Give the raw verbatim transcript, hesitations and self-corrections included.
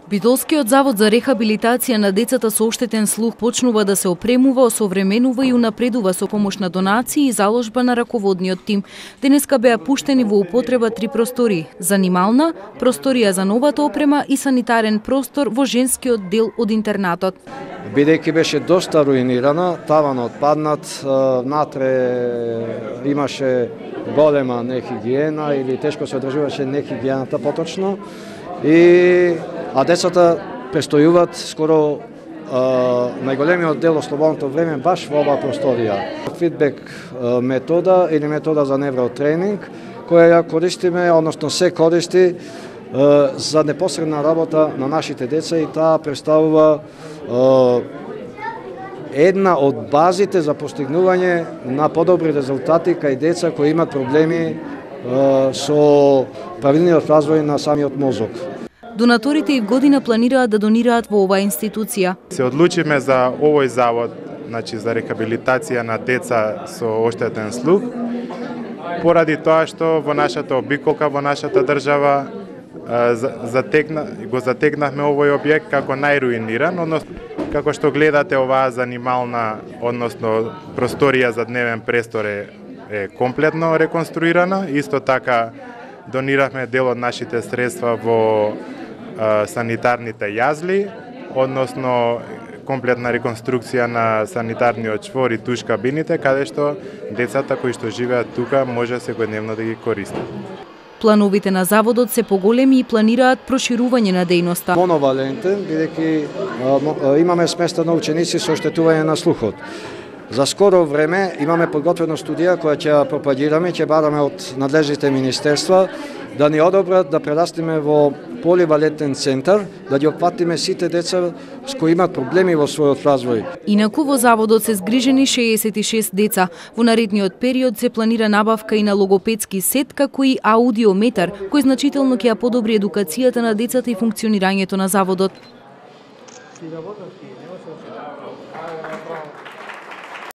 Битолскиот завод за рехабилитација на децата со оштетен слух почнува да се опремува, осовременува и унапредува со помош на донации и заложба на раководниот тим. Денеска беа пуштени во употреба три простории: занимална, просторија за новата опрема и санитарен простор во женскиот дел од интернатот. Бидејќи беше доста руинирана, таванот паднат, внатре имаше голема нехигиена или тешко се одржуваше нехигиената поточно, и а децата престојуваат скоро а, најголемиот дел од слободното време баш во оваа просторија. Фидбек а, метода или метода за невротренинг, која ја користиме, односно се користи а, за непосредна работа на нашите деца, и таа представува а, една од базите за постигнување на подобри резултати кај деца кои имат проблеми а, со правилниот развој на самиот мозок. Донаторите и в година планираат да донираат во оваа институција. Се одлучиме за овој завод, значи за рехабилитација на деца со оштетен слух, поради тоа што во нашата обиколка, во нашата држава затегна, го затегнахме овој објект како најруиниран, односно како што гледате, оваа занимална, односно просторија за дневен престор е, е комплетно реконструирана. Исто така дониравме дел од нашите средства во санитарните јазли, односно комплетна реконструкција на санитарниот чвор и туш кабините, каде што децата кои што живеат тука може секојдневно да ги користат. Плановите на заводот се поголеми и планираат проширување на дејноста. Моновалентен, бидејќи имаме сместено ученици со оштетување на слухот. За скоро време имаме подготвена студија која ќе ја пропагираме, ќе бараме од надлежните министерства да ни одобрат да прерастиме во поливалентен центар, да ги опфатиме сите деца с кои имат проблеми во својот развој. Инаку во заводот се згрижени шеесет и шест деца. Во наредниот период се планира набавка и на логопедски сет, како и аудиометар, кој значително ќе ја подобри едукацијата на децата и функционирањето на заводот.